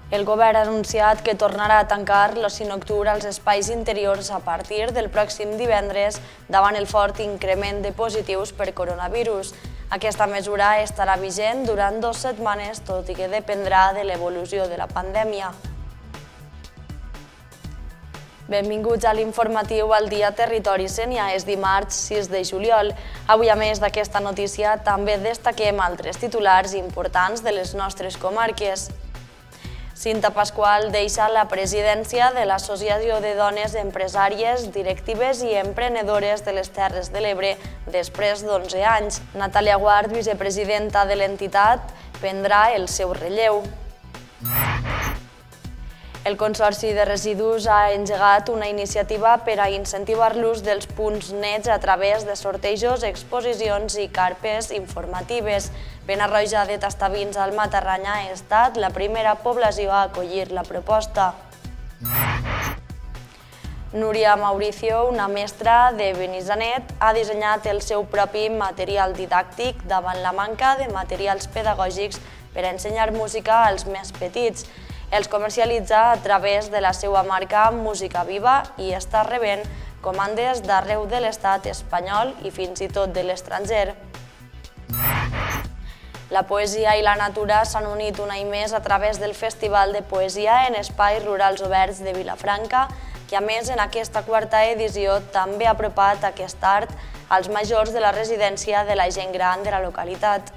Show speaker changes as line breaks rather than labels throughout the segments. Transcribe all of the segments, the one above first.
El govern ha anunciat que tornarà a tancar l'oci nocturn als espais interiors a partir del pròxim divendres davant el fort increment de positius per coronavirus. Aquesta mesura estarà vigent durant 2 setmanes, tot i que dependrà de l'evolució de la pandèmia. Benvinguts a l'informatiu al Dia Territori Sénia. És dimarts 6 de juliol. Avui, a més d'aquesta notícia, també destaquem altres titulars importants de les nostres comarques. Cinta Pasqual deixa la presidència de l'Associació de Dones Empresàries, Directives i Emprenedores de les Terres de l'Ebre després d'11 anys. Natàlia Guart, vicepresidenta de l'entitat, prendrà el seu relleu. El Consorci de Residus ha engegat una iniciativa per a incentivar l'ús dels punts nets a través de sortejos, exposicions i carpes informatives. Penarroja de Tastavins al Matarranya ha estat la primera població a acollir la proposta. Núria Mauricio, una mestra de Benissanet, ha dissenyat el seu propi material didàctic davant la manca de materials pedagògics per a ensenyar música als més petits. Els comercialitza a través de la seva marca Música Viva i està rebent comandes d'arreu de l'estat espanyol i fins i tot de l'estranger. La poesia i la natura s'han unit un any més a través del Festival de Poesia en Espais Rurals Oberts de Vilafranca, que a més en aquesta 4a edició també ha apropat aquest art als majors de la residència de la gent gran de la localitat.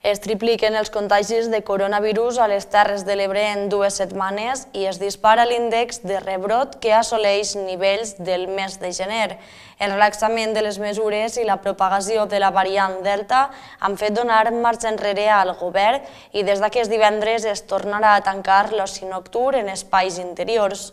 Es tripliquen els contagis de coronavirus a les Terres de l'Ebre en 2 setmanes i es dispara l'índex de rebrot que assoleix nivells del mes de gener. El relaxament de les mesures i la propagació de la variant Delta han fet donar marxa enrere al govern i des d'aquest divendres es tornarà a tancar l'oci nocturn en espais interiors.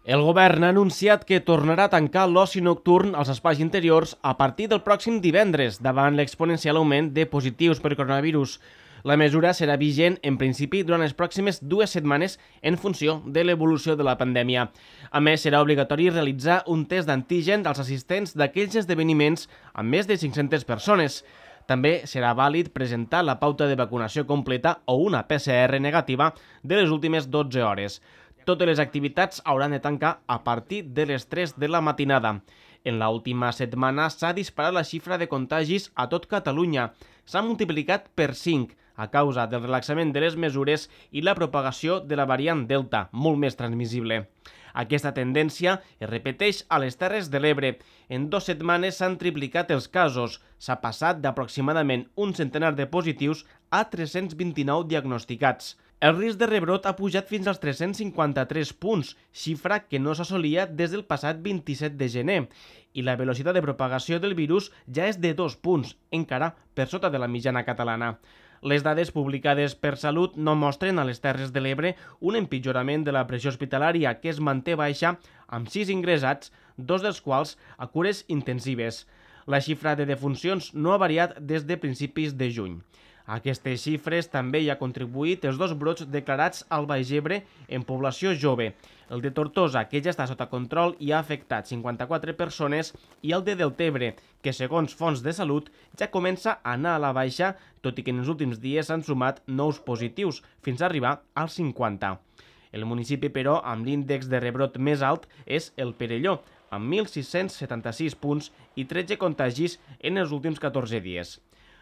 El govern ha anunciat que tornarà a tancar l'oci nocturn als espais interiors a partir del pròxim divendres, davant l'exponencial augment de positius per coronavirus. La mesura serà vigent, en principi, durant les pròximes 2 setmanes en funció de l'evolució de la pandèmia. A més, serà obligatori realitzar un test d'antígen als assistents d'aquells esdeveniments amb més de 500 persones. També serà vàlid presentar la pauta de vacunació completa o una PCR negativa de les últimes 12 hores. Totes les activitats hauran de tancar a partir de les 3 de la matinada. En l'última setmana s'ha disparat la xifra de contagis a tot Catalunya. S'ha multiplicat per 5 a causa del relaxament de les mesures i la propagació de la variant Delta, molt més transmissible. Aquesta tendència es repeteix a les Terres de l'Ebre. En 2 setmanes s'han triplicat els casos. S'ha passat d'aproximadament un centenar de positius a 329 diagnosticats. El risc de rebrot ha pujat fins als 353 punts, xifra que no s'assolia des del passat 27 de gener, i la velocitat de propagació del virus ja és de 2 punts, encara per sota de la mitjana catalana. Les dades publicades per Salut no mostren a les Terres de l'Ebre un empitjorament de la pressió hospitalària que es manté baixa amb 6 ingressats, 2 dels quals a cures intensives. La xifra de defuncions no ha variat des de principis de juny. A aquestes xifres també hi ha contribuït els 2 brots declarats al Baix Ebre en població jove. El de Tortosa, que ja està sota control i ha afectat 54 persones, i el de Deltebre, que segons fonts de salut ja comença a anar a la baixa, tot i que en els últims dies s'han sumat nous positius, fins a arribar als 50. El municipi, però, amb l'índex de rebrot més alt és el Perelló, amb 1.676 punts i 13 contagis en els últims 14 dies.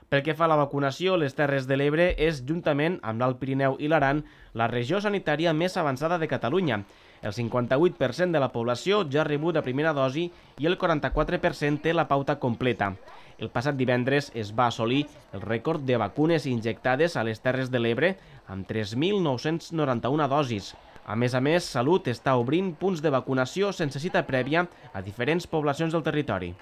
Pel que fa a la vacunació, les Terres de l'Ebre és, juntament amb l'Alt Pirineu i l'Aran, la regió sanitària més avançada de Catalunya. El 58% de la població ja ha rebut la primera dosi i el 44% té la pauta completa. El passat divendres es va assolir el rècord de vacunes injectades a les Terres de l'Ebre amb 3.991 dosis. A més, Salut està obrint punts de vacunació sense cita prèvia a diferents poblacions del territori.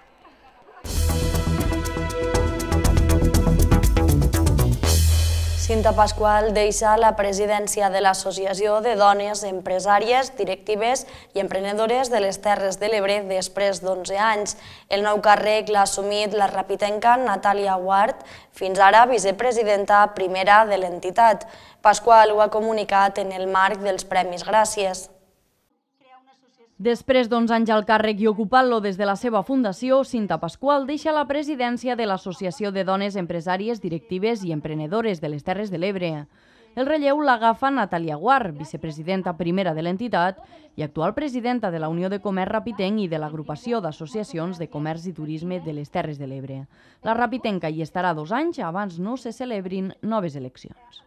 Cinta Pasqual deixa la presidència de l'Associació de Dones Empresàries, Directives i Emprenedores de les Terres de l'Ebre després d'11 anys. El nou càrrec l'ha assumit la rapitenca Natàlia Guart, fins ara vicepresidenta primera de l'entitat. Pasqual ho ha comunicat en el marc dels Premis Gràcies.
Després d'11 anys al càrrec i ocupant-lo des de la seva fundació, Cinta Pasqual deixa la presidència de l'Associació de Dones Empresàries, Directives i Emprenedores de les Terres de l'Ebre. El relleu l'agafa Natàlia Guar, vicepresidenta primera de l'entitat i actual presidenta de la Unió de Comerç Rapitenc i de l'Agrupació d'Associacions de Comerç i Turisme de les Terres de l'Ebre. La rapitenca hi estarà 2 anys abans no se celebrin noves eleccions.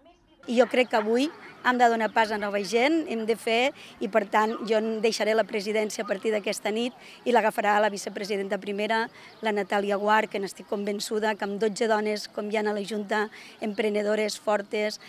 I jo crec que avui hem de donar pas a nova gent, hem de fer, i per tant jo deixaré la presidència a partir d'aquesta nit i l'agafarà la vicepresidenta primera, la Natàlia Guar, que n'estic convençuda que amb 12 dones, com hi ha a la Junta, emprenedores fortes,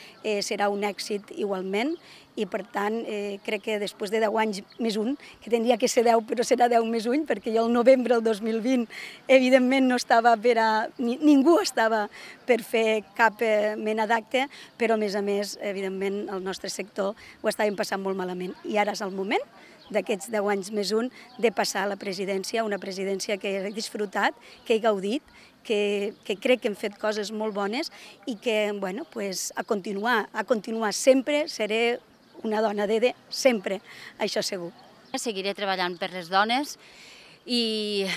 serà un èxit igualment. I per tant crec que després de 10 anys més un, que tindria que ser 10 però serà 10 més un, perquè jo el novembre del 2020 evidentment no estava ningú estava per fer cap mena d'acte, però a més evidentment el nostre sector ho estàvem passant molt malament i ara és el moment d'aquests 10 anys més un de passar a la presidència, una presidència que he disfrutat, que he gaudit, que crec que hem fet coses molt bones i que a continuar sempre seré una dona d'EDE, sempre, això segur.
Seguiré treballant per les dones i,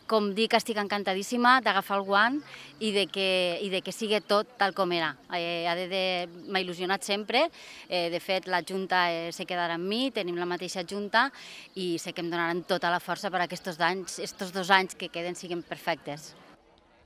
com dic, estic encantadíssima d'agafar el guant i de que sigui tot tal com era. ADD m'ha il·lusionat sempre, de fet la Junta se quedarà amb mi, tenim la mateixa Junta i sé que em donaran tota la força per aquests 2 anys que queden siguin perfectes.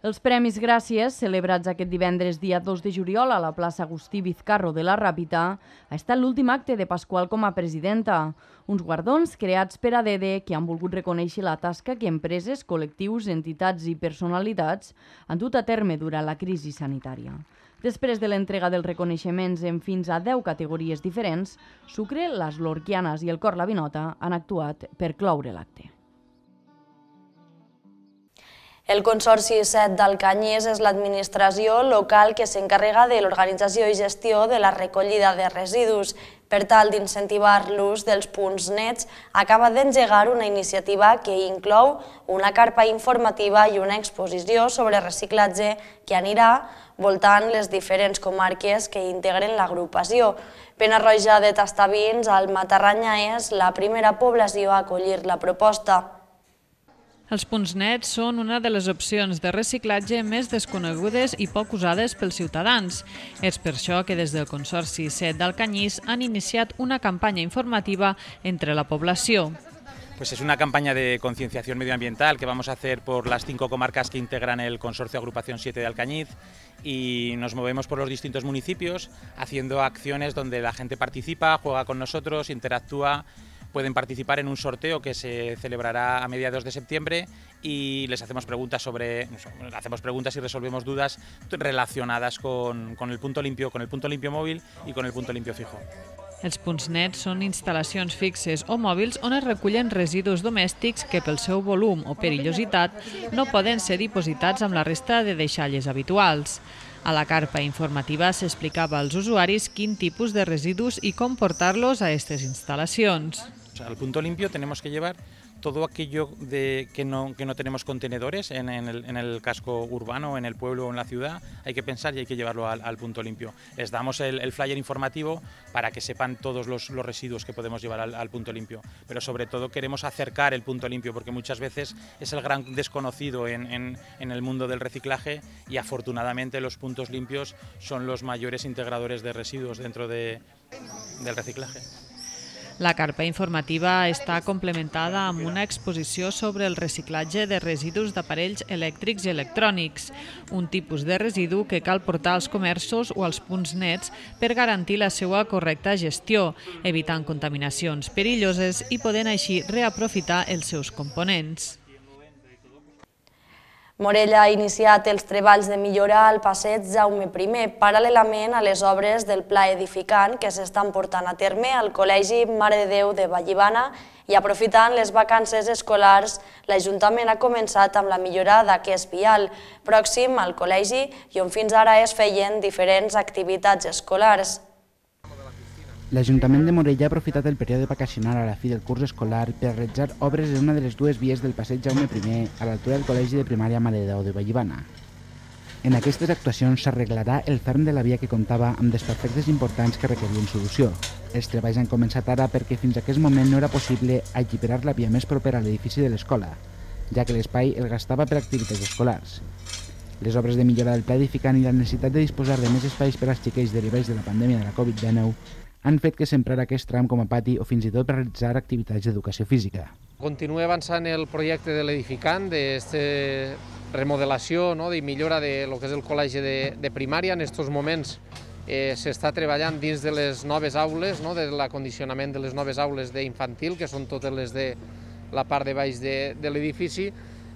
Els Premis Gràcies, celebrats aquest divendres dia 2 de juliol a la plaça Agustí Vizcarro de la Ràpita, ha estat l'últim acte de Pasqual com a presidenta. Uns guardons creats per ADD que han volgut reconèixer la tasca que empreses, col·lectius, entitats i personalitats han dut a terme durant la crisi sanitària. Després de l'entrega dels reconeixements en fins a 10 categories diferents, Sucre, les Lorquianes i el Cor la Vinota han actuat per cloure l'acte.
El Consorci 7 d'Alcanyís és l'administració local que s'encarrega de l'organització i gestió de la recollida de residus. Per tal d'incentivar l'ús dels punts nets, acaba d'engegar una iniciativa que inclou una carpa informativa i una exposició sobre reciclatge que anirà voltant les diferents comarques que integren l'agrupació. Pena-roja de Tastavins, al Matarranya, és la primera població a acollir la proposta.
Els punts nets són una de les opcions de reciclatge més desconegudes i poc usades pels ciutadans. És per això que des del Consorci 7 d'Alcanyís han iniciat una campanya informativa entre la població.
Pues es una campaña de concienciación medioambiental que vamos a hacer por las 5 comarcas que integran el Consorcio Agrupación 7 de Alcañiz y nos movemos por los distintos municipios haciendo acciones donde la gente participa, juega con nosotros, interactúa. Pueden participar en un sorteo que se celebrará a mediados de septiembre y les hacemos preguntas y resolvemos dudas relacionadas con el punto limpio móvil y con el punto limpio fijo.
Els punts nets són instal·lacions fixes o mòbils on es recullen residus domèstics que pel seu volum o perillositat no poden ser dipositats amb la resta de deixalles habituals. A la carpa informativa s'explicava als usuaris quin tipus de residus i com portar-los a aquestes instal·lacions.
Al punto limpio tenemos que llevar todo aquello que no tenemos contenedores en el casco urbano, en el pueblo o en la ciudad. Hay que pensar y hay que llevarlo al punto limpio. Les damos el flyer informativo para que sepan todos los residuos que podemos llevar al punto limpio. Pero sobre todo queremos acercar el punto limpio porque muchas veces es el gran desconocido en el mundo del reciclaje y afortunadamente los puntos limpios son los mayores integradores de residuos dentro del reciclaje.
La carpa informativa està complementada amb una exposició sobre el reciclatge de residus d'aparells elèctrics i electrònics, un tipus de residu que cal portar als comerços o als punts nets per garantir la seva correcta gestió, evitant contaminacions perilloses i podent així reaprofitar els seus components.
Morella ha iniciat els treballs de millora al passeig Jaume I, paral·lelament a les obres del pla edificant que s'estan portant a terme al Col·legi Mare de Déu de Vallibana i aprofitant les vacances escolars, l'Ajuntament ha començat amb la millora d'aquest vial, pròxim al col·legi i on fins ara es feien diferents activitats escolars.
L'Ajuntament de Morella ha aprofitat el període vacacional a la fi del curs escolar per realitzar obres en una de les dues vies del passeig Jaume I, a l'altura del Col·legi de Primària Mare de Déu de Vallibana. En aquestes actuacions s'arreglarà el ferm de la via que comptava amb desperfectes importants que requerien solució. Els treballs han començat ara perquè fins a aquest moment no era possible alliberar la via més propera a l'edifici de l'escola, ja que l'espai el gastava per activitats escolars. Les obres de millora del pla edificant i la necessitat de disposar de més espais per als xiquets derivats de la pandèmia de la Covid-19 han fet que s'emprara aquest tram com a pati o fins i tot per realitzar activitats d'educació física.
Continua avançant el projecte de l'edificant, d'aquesta remodelació i millora de lo que és el col·legi de primària. En aquests moments s'està treballant dins de les noves aules, de l'acondicionament de les noves aules d'infantil, que són totes les de la part de baix de l'edifici,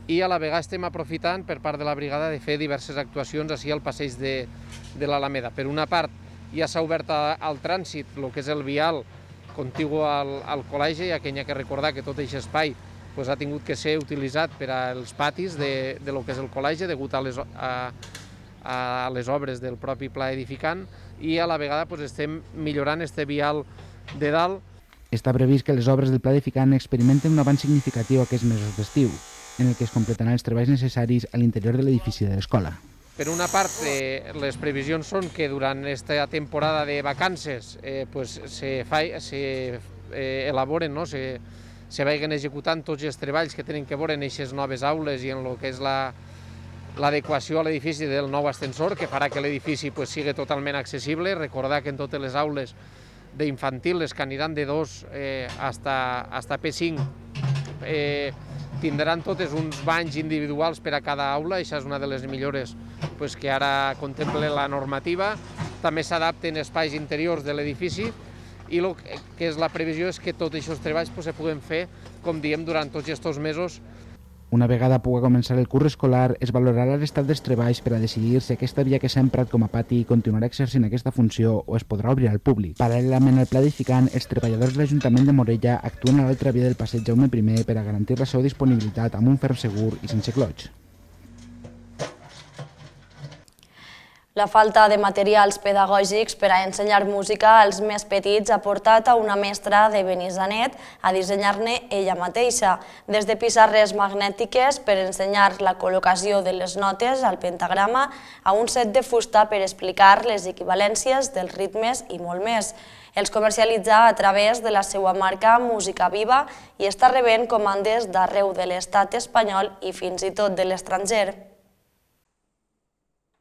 i a la vegada estem aprofitant per part de la brigada de fer diverses actuacions així al passeig de l'Alameda. Per una part, ja s'ha obert al trànsit el que és el vial contigu al col·legi, ja que hi ha que recordar que tot aquest espai ha tingut que ser utilitzat per als patis de lo que és el col·legi, degut a les obres del propi pla edificant, i a la vegada estem millorant este vial de dalt.
Està previst que les obres del pla edificant experimenten un avanç significatiu aquests mesos d'estiu, en el que es completaran els treballs necessaris a l'interior de l'edifici de l'escola.
Per una part, les previsions són que durant aquesta temporada de vacances s'elaboren, se vagin executant tots els treballs que tenen que veure en aquestes noves aules i en el que és l'adequació a l'edifici del nou ascensor, que farà que l'edifici sigui totalment accessible. Recordar que en totes les aules d'infantil, les que aniran de 2 fins a P5, tindran totes uns banys individuals per a cada aula. Això és una de les millores que ara contempla la normativa. També s'adapten espais interiors de l'edifici i el que és la previsió és que tots aquests treballs se puguen fer, com diem, durant tots aquests mesos.
Una vegada pugui començar el curs escolar, es valorarà l'estat dels treballs per a decidir si aquesta via que s'ha emprat com a pati continuarà exercint aquesta funció o es podrà obrir al públic. Paral·lelament al pla edificant, els treballadors de l'Ajuntament de Morella actuen a l'altra via del passeig Jaume I per a garantir la seva disponibilitat amb un ferm segur i sense clots.
La falta de materials pedagògics per a ensenyar música als més petits ha portat a una mestra de Benissanet a dissenyar-ne ella mateixa, des de pissarres magnètiques per ensenyar la col·locació de les notes al pentagrama a un set de fusta per explicar les equivalències dels ritmes i molt més. Els comercialitza a través de la seva marca Música Viva i està rebent comandes d'arreu de l'estat espanyol i fins i tot de l'estranger.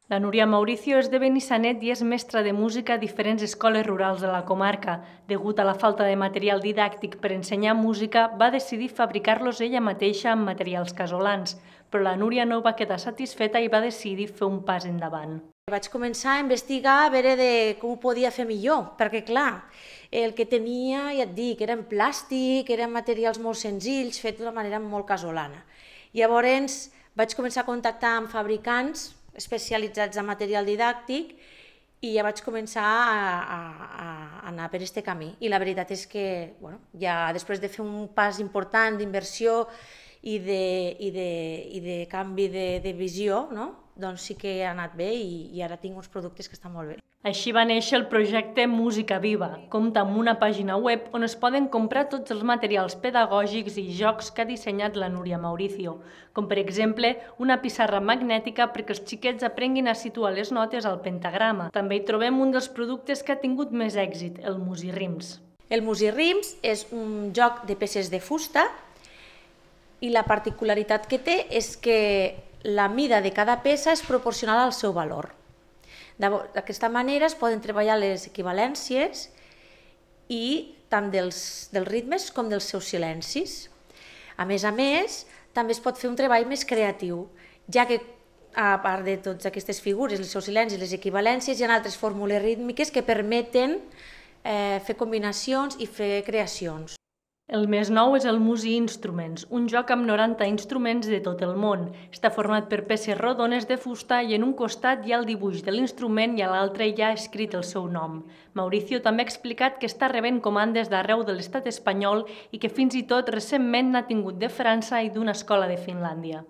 La Núria Mauricio és de Benissanet i és mestra de música a diferents escoles rurals de la comarca. Degut a la falta de material didàctic per ensenyar música, va decidir fabricar-los ella mateixa amb materials casolans, però la Núria no va quedar satisfeta i va decidir fer un pas endavant.
Vaig començar a investigar a veure com ho podia fer millor, perquè clar, el que tenia, ja et dic, era en plàstic, eren materials molt senzills, fets d'una manera molt casolana. Llavors vaig començar a contactar amb fabricants especialitzats en material didàctic i ja vaig començar a anar per aquest camí. I la veritat és que ja després de fer un pas important d'inversió i de canvi de visió, doncs sí que ha anat bé i ara tinc uns productes que estan molt bé.
Així va néixer el projecte Música Viva. Compta amb una pàgina web on es poden comprar tots els materials pedagògics i jocs que ha dissenyat la Núria Mauricio, com per exemple una pissarra magnètica perquè els xiquets aprenguin a situar les notes al pentagrama. També hi trobem un dels productes que ha tingut més èxit, el Musirrims.
El Musirrims és un joc de peces de fusta i la particularitat que té és que la mida de cada peça és proporcional al seu valor. D'aquesta manera es poden treballar les equivalències i tant dels ritmes com dels seus silencis. A més, també es pot fer un treball més creatiu, ja que a part de totes aquestes figures, els seus silencis, les equivalències, hi ha altres fórmules rítmiques que permeten fer combinacions i fer creacions.
El més nou és el Musi Instruments, un joc amb 90 instruments de tot el món. Està format per peces rodones de fusta i en un costat hi ha el dibuix de l'instrument i a l'altre hi ha escrit el seu nom. Mauricio també ha explicat que està rebent comandes d'arreu de l'estat espanyol i que fins i tot recentment n'ha tingut de França i d'una escola de Finlàndia.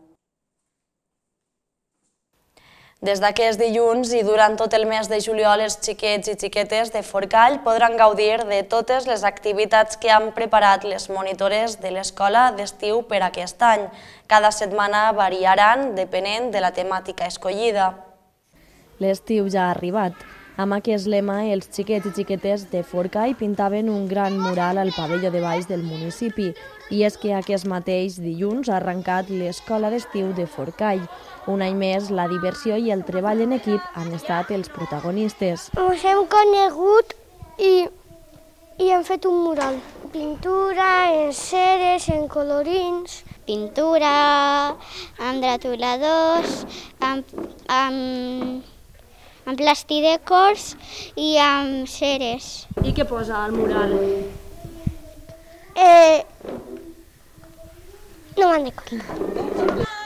Des d'aquest dilluns i durant tot el mes de juliol, els xiquets i xiquetes de Forcall podran gaudir de totes les activitats que han preparat les monitores de l'escola d'estiu per aquest any. Cada setmana variaran depenent de la temàtica escollida. L'estiu ja ha arribat. Amb aquest lema, els xiquets i xiquetes de Forcall pintaven un gran mural al pavelló de baix del municipi. I és que aquest mateix dilluns ha arrencat l'Escola d'Estiu de Forcall. Un any més, la diversió i el treball en equip han estat els protagonistes.
Ens hem conegut i hem fet un mural. Pintura, en ceres, en colorins.
Pintura, amb retoladors, amb plastidecors i amb ceres.
I què posa al mural?
No me'n recordo.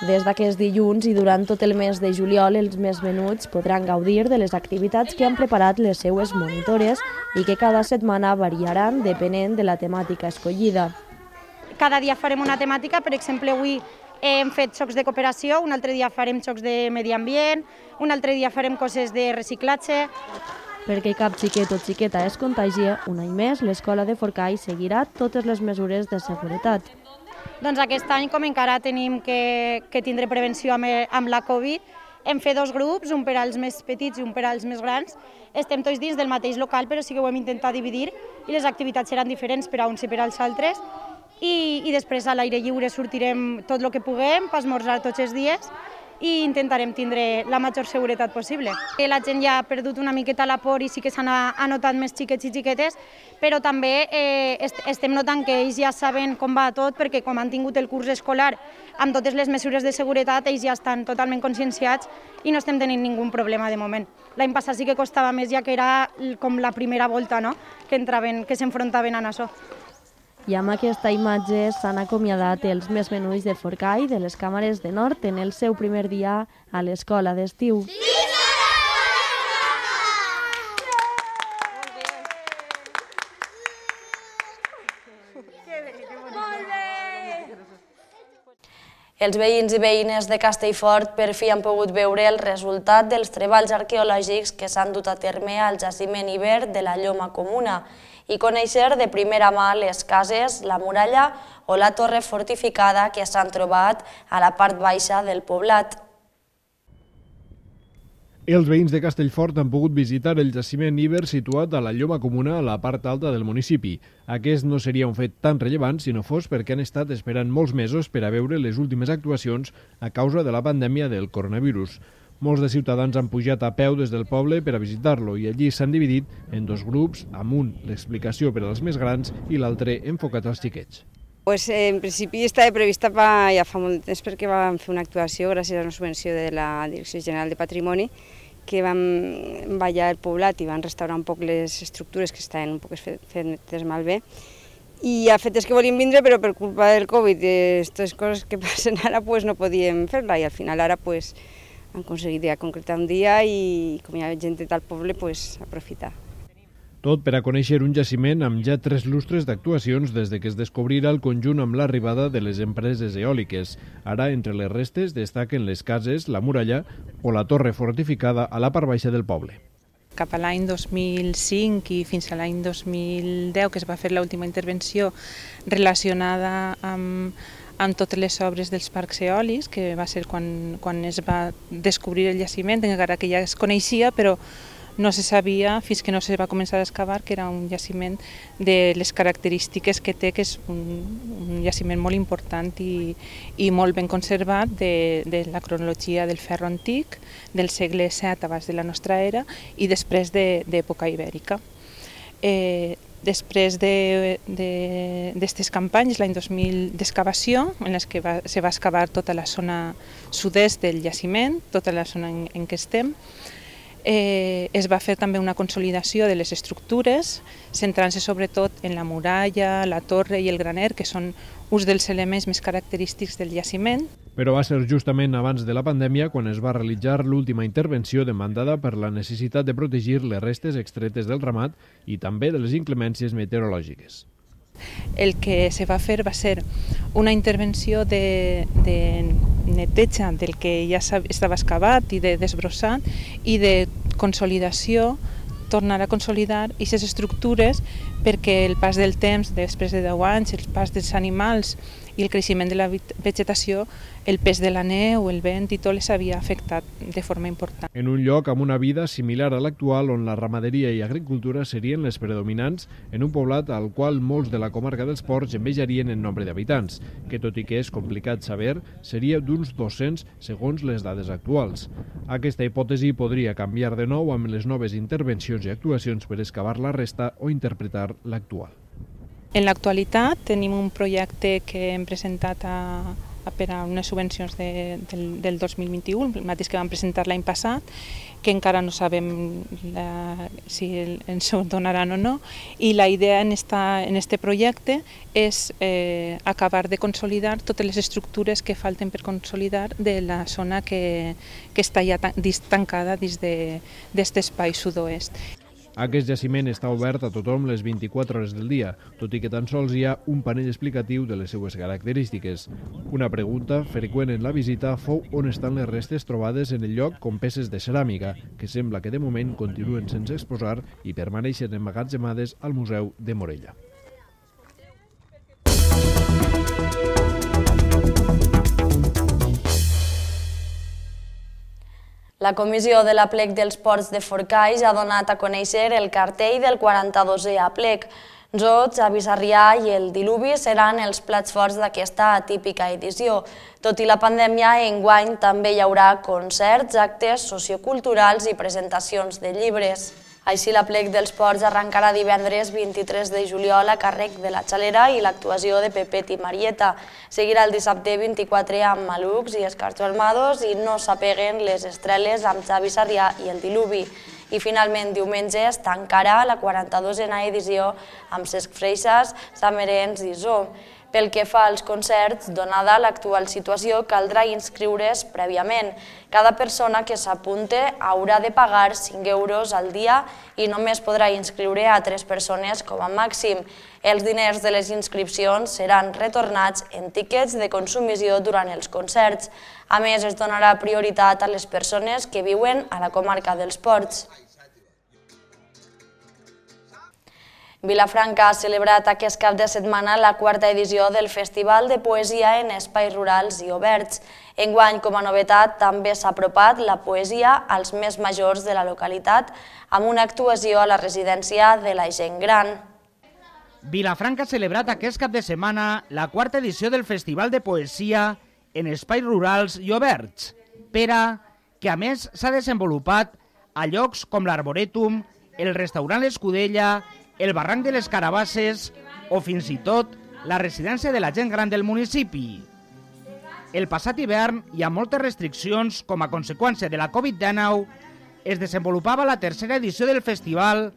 Des d'aquest dilluns i durant tot el mes de juliol, els més menuts podran gaudir de les activitats que han preparat les seues monitores i que cada setmana variaran depenent de la temàtica escollida.
Cada dia farem una temàtica, per exemple, avui hem fet xocs de cooperació, un altre dia farem xocs de medi ambient, un altre dia farem coses de reciclatge.
Perquè cap xiquet o xiqueta es contagie, un any més l'Escola de Forcall seguirà totes les mesures de seguretat.
Doncs aquest any, com encara tenim que tindre prevenció amb la Covid, hem fet dos grups, un per als més petits i un per als més grans. Estem tots dins del mateix local, però sí que ho hem intentat dividir i les activitats seran diferents per a uns i per als altres. I després a l'aire lliure sortirem tot el que puguem per esmorzar tots els dies i intentarem tindre la major seguretat possible. La gent ja ha perdut una miqueta la por i sí que s'han anotat més xiquets i xiquetes, però també estem notant que ells ja saben com va tot, perquè com han tingut el curs escolar amb totes les mesures de seguretat, ells ja estan totalment conscienciats i no estem tenint ningú problema de moment. L'any passat sí que costava més, ja que era com la primera volta, no?, que s'enfrontaven a això.
I amb aquesta imatge s'han acomiadat els més menuts de Forcall de les càmeres de Nord en el seu primer dia a l'Escola d'Estiu. Els veïns i veïnes de Castellfort per fi han pogut veure el resultat dels treballs arqueològics que s'han dut a terme al jaciment Iber de la Lloma Comuna i conèixer de primera mà les cases, la muralla o la torre fortificada que s'han trobat a la part baixa del poblat.
Els veïns de Castellfort han pogut visitar el jaciment Iber situat a la Lloma Comuna a la part alta del municipi. Aquest no seria un fet tan rellevant si no fos perquè han estat esperant molts mesos per a veure les últimes actuacions a causa de la pandèmia del coronavirus. Molts de ciutadans han pujat a peu des del poble per a visitar-lo i allí s'han dividit en dos grups, amb un l'explicació per als més grans i l'altre enfocat als xiquets.
En principi estava prevista ja fa molt temps perquè vam fer una actuació gràcies a una subvenció de la Direcció General de Patrimoni que vam ballar el poblat i van restaurar un poc les estructures que estaven un poc fetes malbé. I el fet és que volíem vindre, però per culpa del Covid i aquestes coses que passen ara no podíem fer-la i al final ara han aconseguit ja concretar un dia i com hi ha gent de tal poble, aprofitar.
Tot per a conèixer un jaciment amb ja 3 lustres d'actuacions des que es descobrirà el conjunt amb l'arribada de les empreses eòliques. Ara, entre les restes, destaquen les cases, la muralla o la torre fortificada a la part baixa del poble.
Cap a l'any 2005 i fins a l'any 2010, que es va fer l'última intervenció relacionada amb totes les obres dels parcs eòlics, que va ser quan es va descobrir el jaciment, encara que ja es coneixia, però no se sabia fins que no se va començar a excavar que era un jaciment de les característiques que té, que és un jaciment molt important i molt ben conservat de la cronologia del ferro antic, del segle VII abans de la nostra era i després d'època ibèrica. Després d'aquestes campanyes, l'any 2000 d'excavació, en les que se va excavar tota la zona sud-est del jaciment, tota la zona en què estem, es va fer també una consolidació de les estructures, centrant-se sobretot en la muralla, la torre i el graner, que són uns dels elements més característics del jaciment.
Però va ser justament abans de la pandèmia quan es va realitzar l'última intervenció demandada per la necessitat de protegir les restes extretes del ramat i també de les inclemències meteorològiques.
El que se va fer va ser una intervenció de neteja del que ja estava excavat i de desbrossat i de consolidació tornar a consolidar aquestes estructures perquè el pas del temps, després de 10 anys, el pas dels animals i el creixement de la vegetació, el pes de la neu, el vent i tot les havia afectat de forma important.
En un lloc amb una vida similar a l'actual, on la ramaderia i agricultura serien les predominants, en un poblat al qual molts de la comarca dels Ports envejarien en nombre d'habitants, que tot i que és complicat saber, seria d'uns 200 segons les dades actuals. Aquesta hipòtesi podria canviar de nou amb les noves intervencions i actuacions per excavar la resta o interpretar l'actual.
En l'actualitat tenim un projecte que hem presentat per a unes subvencions del 2021, el mateix que vam presentar l'any passat, que encara no sabem si ens ho donaran o no, i la idea en este projecte és acabar de consolidar totes les estructures que falten per consolidar de la zona que està ja tancada dins d'aquest espai sud-oest.
Aquest jaciment està obert a tothom les 24 hores del dia, tot i que tan sols hi ha un panell explicatiu de les seues característiques. Una pregunta freqüent en la visita fou on estan les restes trobades en el lloc com peces de ceràmica, que sembla que de moment continuen sense exposar i permaneixen emmagatzemades al Museu de Morella.
La comissió de l'Aplec dels Ports de Forcalls ha donat a conèixer el cartell del 42è Aplec. Jots, Xavi Sarrià i el Diluvi seran els plats forts d'aquesta atípica edició. Tot i la pandèmia, enguany també hi haurà concerts, actes socioculturals i presentacions de llibres. Així, l'Aplec dels Ports arrencarà divendres 23 de juliol a càrrec de la Xalera i l'actuació de Pepet i Marieta. Seguirà el dissabte 24 amb Malucs i Escarcho Armados i No s'apeguen les estreles amb Xavi Sarrià i el Diluvi. I finalment diumenge es tancarà la 42a edició amb Cesc Freixas, Samerens i Zoo. Pel que fa als concerts, donada l'actual situació, caldrà inscriure's prèviament. Cada persona que s'apunte haurà de pagar 5 euros al dia i només podrà inscriure a 3 persones com a màxim. Els diners de les inscripcions seran retornats en tíquets de consumició durant els concerts. A més, es donarà prioritat a les persones que viuen a la comarca dels Ports. Vilafranca ha celebrat aquest cap de setmana la 4a edició del Festival de Poesia en Espais Rurals i Oberts. Enguany, com a novetat, també s'ha apropat la poesia als més majors de la localitat amb una actuació a la residència de la gent gran.
Vilafranca ha celebrat aquest cap de setmana la 4a edició del Festival de Poesia en Espais Rurals i Oberts, que a més s'ha desenvolupat a llocs com l'Arborètum, el restaurant L'Escudella, el barranc de les Carabasses o fins i tot la residència de la gent gran del municipi. El passat hivern i amb moltes restriccions com a conseqüència de la Covid-19 es desenvolupava la 3a edició del festival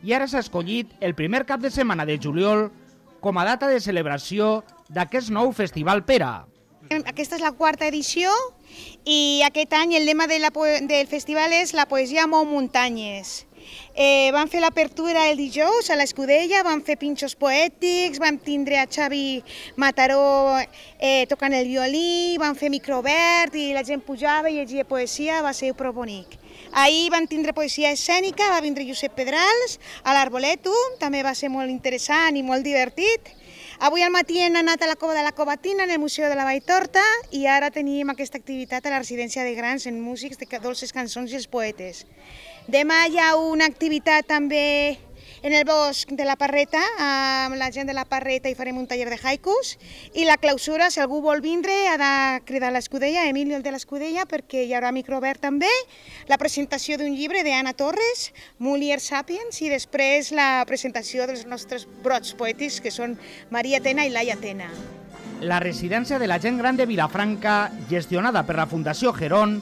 i ara s'ha escollit el primer cap de setmana de juliol com a data de celebració d'aquest nou Festival Pera.
Aquesta és la 4a edició i aquest any el lema del festival és la poesia mou muntanyes. Vam fer l'apertura el dijous a l'Escudella, vam fer pinxos poètics, vam tindre a Xavi Mataró tocant el violí, vam fer microobert i la gent pujava i llegia poesia, va ser prou bonic. Ahir vam tindre poesia escènica, va vindre Josep Pedrals a l'Arbolètum, també va ser molt interessant i molt divertit. Avui al matí hem anat a la Cova de la Covatina, en el Museu de la Valltorta, i ara tenim aquesta activitat a la residència de grans en músics de dolces cançons i els poetes. Demà hi ha una activitat també en el bosc de la Parreta, amb la gent de la Parreta i farem un taller de haikus, i la clausura, si algú vol vindre, ha de cridar a l'Escudella, Emilio el de l'Escudella, perquè hi haurà microobert també, la presentació d'un llibre d'Anna Torres, Mulier Sapiens, i després la presentació dels nostres brots poètics, que són Maria Tena i Laia Tena.
La residència de la gent gran de Vilafranca, gestionada per la Fundació Gerón,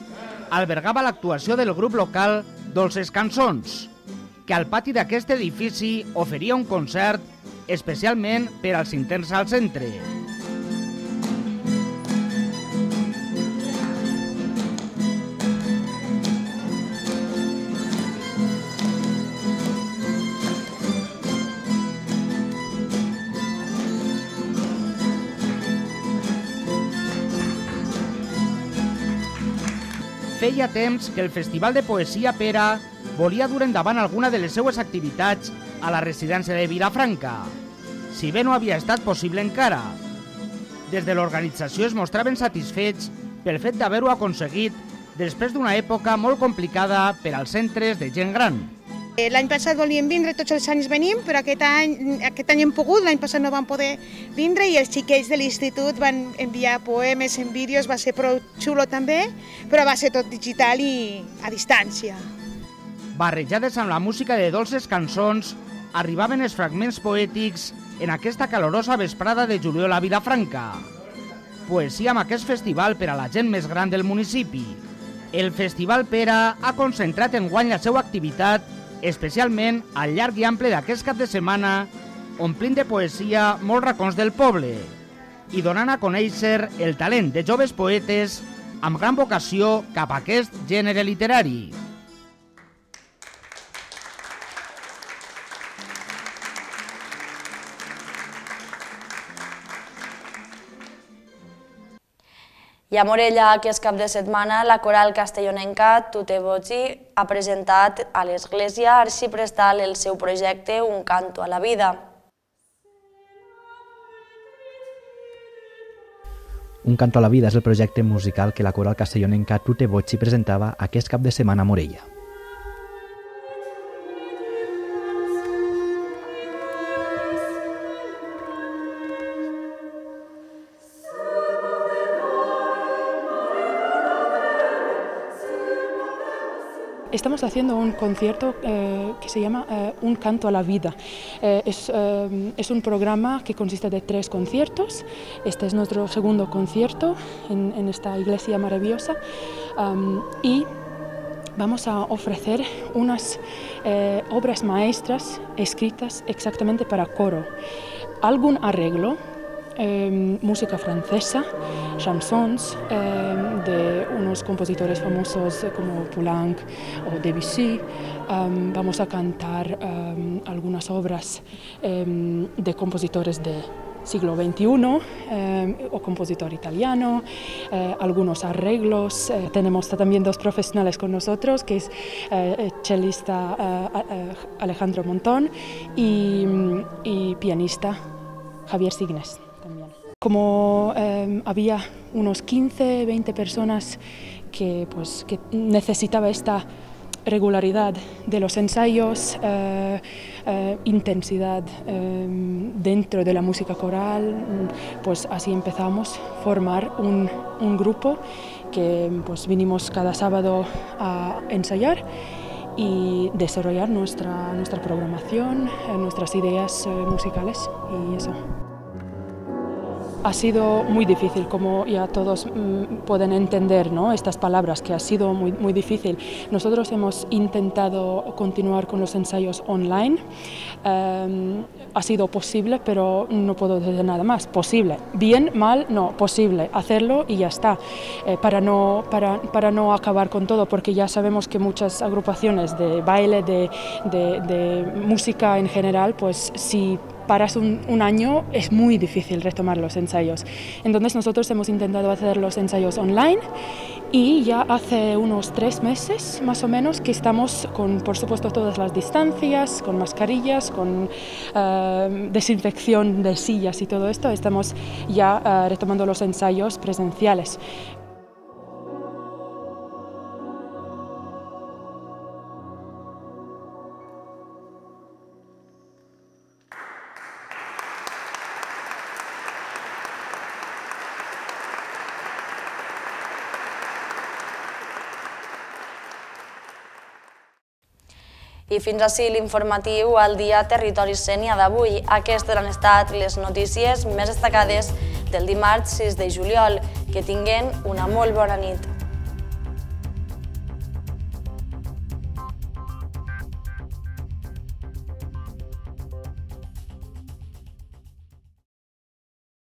albergava l'actuació del grup local Dolces Cançons, que al pati d'aquest edifici oferia un concert especialment per als interns al centre. Feia temps que el Festival de Poesia Pera volia dur endavant alguna de les seues activitats a la residència de Vilafranca, si bé no havia estat possible encara. Des de l'organització es mostraven satisfets pel fet d'haver-ho aconseguit després d'una època molt complicada per als centres de gent gran.
L'any passat volíem vindre, tots els anys venim, però aquest any hem pogut, l'any passat no vam poder vindre i els xiquets de l'institut van enviar poemes en vídeos, va ser prou xulo també, però va ser tot digital i a distància.
Barrejades amb la música de dolces cançons, arribaven els fragments poètics en aquesta calorosa vesprada de juliol a Vilafranca. Poesia amb aquest festival per a la gent més gran del municipi. El Festival Pera ha concentrat enguany la seva activitat especialment al llarg i ample d'aquest cap de setmana, omplint de poesia molts racons del poble i donant a conèixer el talent de joves poetes amb gran vocació cap a aquest gènere literari.
I a Morella, aquest cap de setmana, la coral castellonenca Tute Voci ha presentat a l'Església Arxiprestal el seu projecte Un canto a la vida.
Un canto a la vida és el projecte musical que la coral castellonenca Tute Voci presentava aquest cap de setmana a Morella.
Estamos haciendo un concierto que se llama Un canto a la vida. Es un programa que consiste de 3 conciertos. Este es nuestro segundo concierto en esta iglesia maravillosa y vamos a ofrecer unas obras maestras escritas exactamente para coro. Algún arreglo, música francesa, chansons de unos compositores famosos como Poulenc o Debussy. Vamos a cantar algunas obras de compositores del siglo XXI o compositor italiano, algunos arreglos. Tenemos también 2 profesionales con nosotros, que es chelista Alejandro Montón y pianista Javier Signes. Como había unos 15-20 personas que necesitaba esta regularidad de los ensayos, intensidad dentro de la música coral, pues así empezamos a formar un grupo que vinimos cada sábado a ensayar y desarrollar nuestra programación, nuestras ideas musicales y eso. Ha sido muy difícil, como ya todos pueden entender, ¿no? Estas palabras, que ha sido muy difícil. Nosotros hemos intentado continuar con los ensayos online. Ha sido posible, pero no puedo decir nada más. Posible. Bien, mal, no. Posible. Hacerlo y ya está. Para no acabar con todo, porque ya sabemos que muchas agrupaciones de baile, de música en general, pues si paras un año es muy difícil retomar los ensayos. Entonces nosotros hemos intentado hacer los ensayos online y ya hace unos 3 meses más o menos que estamos con, por supuesto, todas las distancias, con mascarillas, con desinfección de sillas y todo esto, estamos ya retomando los ensayos presenciales.
I fins ací l'informatiu al dia Territori Sénia d'avui. Aquestes han estat les notícies més destacades del dimarts 6 de juliol. Que tinguen una molt bona nit.